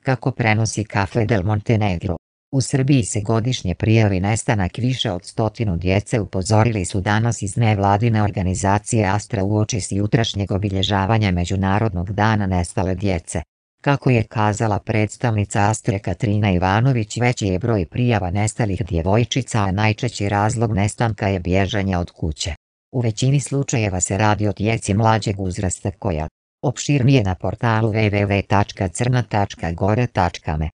kako prenosi Cafe del Montenegro. U Srbiji se godišnje prijavi nestanak više od 100 djece, upozorili su danas iz nevladine organizacije Astra uoči jutrašnjeg obilježavanja Međunarodnog dana nestale djece. Kako je kazala predstavnica Astre Katrina Ivanović, veći je broj prijava nestalih djevojčica, a najčešći razlog nestanka je bježanje od kuće. U većini slučajeva se radi o djeci mlađeg uzrasta koja opširnije na portalu www.crna.gore.me